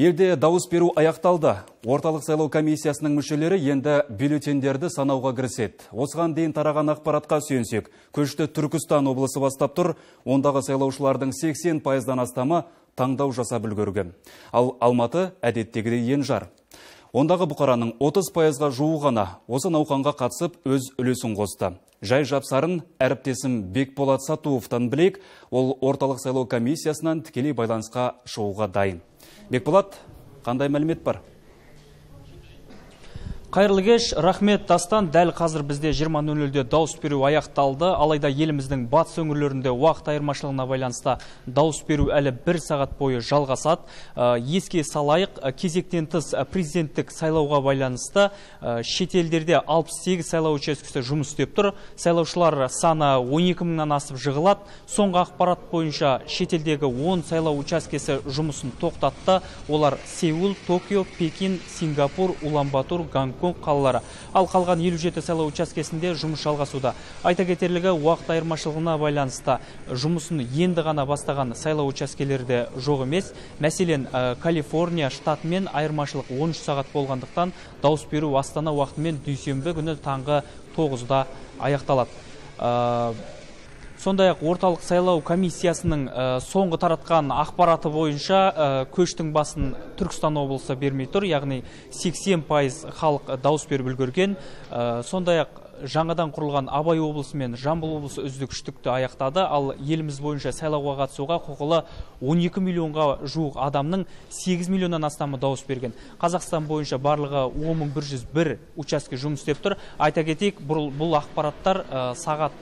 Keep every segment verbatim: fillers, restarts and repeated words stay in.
Елде дауыс беру аяқталды. Орталық сайлау комиссиясының мүшелері енді бюллетендерді санауға кіріседі. Осыған дейін тараған ақпаратқа сүйенсек, көшті Түркістан облысы бастап тұр. Ондағы сайлаушылардың сексен пайыздан астамы таңдау жасап үлгерген. Ал Алматы әдеттегідей енжар. Ондағы бұқараның отыз пайызға жуығана осы науқанға қатысып өз үлесін қосты. Жай жапсарын әріптесім Бекболат Сатуовтан білек, ол орталық сайлау комиссиясынан тікелей байланысқа шығуға дайын. Бекболат, қандай мәлімет бар? Қайырлы кеш, рахмет Дастан. Дәл қазір бізде жиырма нөл нөлде дауыс беру аяқталды. Алайда еліміздің батыс өңірлерінде уақыт айырмашылығына байланысты дауыс беру әлі бір сағат бойы жалғасады. Еске салайық, кезектен тыс президенттік сайлауға байланысты шетелдерде алпыс сегіз сайлау учаскесі жұмыс істеп тұр. Сайлаушылар саны он екі мыңнан асып жығылады. Соңғы ақпарат бойынша шетелдегі он сайлау учаскесі жұмысын тоқтатты. Олар Сеул, Токио, Пекин, Сингапур, Улан-Батор, Гонконг қалалары. Ал қалған елу жеті сайлау учаскесінде жұмыс жалғасуда. Айта кетерлігі, уақыт айырмашылығына байланысты жұмысын енді ғана бастаған сайлау учаскелерде жоқ емес. Мәселен, Калифорния штатымен айырмашылық он үш сағат болғандықтан дауыс беру Астана уақытымен дүйсенбі күні таңғы тоғызда аяқталады. Сондай-ақ орталық сайлау комиссиясының соңғы таратқан ақпараты бойынша көштің басын Түркістан облысы бермей тұр, яғни сексен пайыз халық дауыс беріп үлгерген. Сондай-ақ жаңадан құрылған Абай облысы мен Жамбыл облысы үздік үштікті аяқтады, ал еліміз бойынша сайлауға қатысуға құқылы он екі миллионға жуық адамның сегіз миллионнан астамы дауыс берген. Қазақстан бойынша барлығы он мың бір жүз бір учаске жұмыс істеп тұр. Айта кетейік, бұл, бұл ақпараттар сағат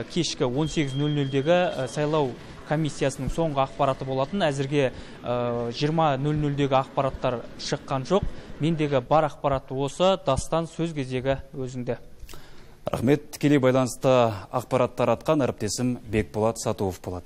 кешкі он сегіз нөл нөлдегі сайлау комиссиясының соңғы ақпараты болатын. Әзірге жиырма нөл нөлдегі ақпараттар шыққан жоқ. Мендегі бар ақпараты осы. Дастан, сөз кезегі өзіңде. Рахмет, тікелей байланысты ақпарат таратқан әріптесім Бекболат Сатуов болады.